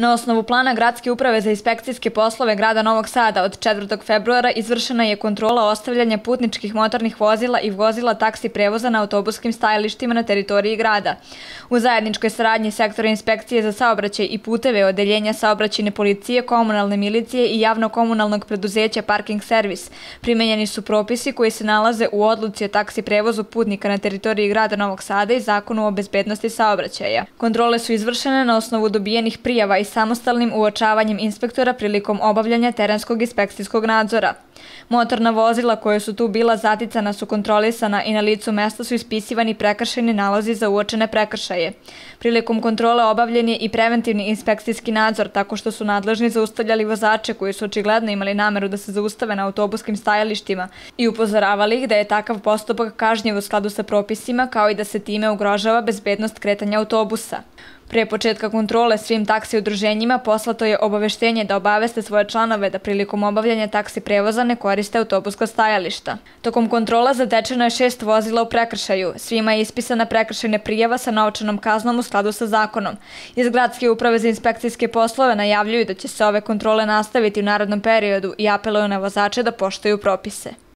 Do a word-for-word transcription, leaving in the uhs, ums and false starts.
Na osnovu plana Gradske uprave za inspekcijske poslove grada Novog Sada od četvrtog februara izvršena je kontrola ostavljanja putničkih motornih vozila i vozila taksi prevoza na autobuskim stajalištima na teritoriji grada. U zajedničkoj saradnji sektora inspekcije za saobraćaj i puteve, odeljenja saobraćajne policije, komunalne milicije i javno-komunalnog preduzeća Parking servis primenjeni su propisi koji se nalaze u odluci o taksi prevozu putnika na teritoriji grada Novog Sada i Zakonu o bezbednosti saobraćaja. Kontrole su izvršene na osnovu dobijenih prijava i samostalnim uočavanjem inspektora prilikom obavljanja terenskog inspekcijskog nadzora. Motorna vozila koja su tu bila zaticana su kontrolisana i na licu mesta su ispisivani prekršajni nalozi za uočene prekršaje. Prilikom kontrole obavljen je i preventivni inspekcijski nadzor tako što su nadležni zaustavljali vozače koji su očigledno imali nameru da se zaustave na autobuskim stajalištima i upozoravali ih da je takav postupak kažnjiv u skladu sa propisima kao i da se time ugrožava bezbednost kretanja autobusa. Pre početka kontrole svim taksi udruženjima poslato je obaveštenje da obaveste svoje članove da prilikom obavljanja taksi prevoza ne koriste autobuska stajališta. Tokom kontrola zatečeno je šest vozila u prekršaju. Svima je ispisana prekršajna prijava sa novčanom kaznom u skladu sa zakonom. Iz Gradske uprave za inspekcijske poslove najavljuju da će se ove kontrole nastaviti u narednom periodu i apeluju na vozače da poštuju propise.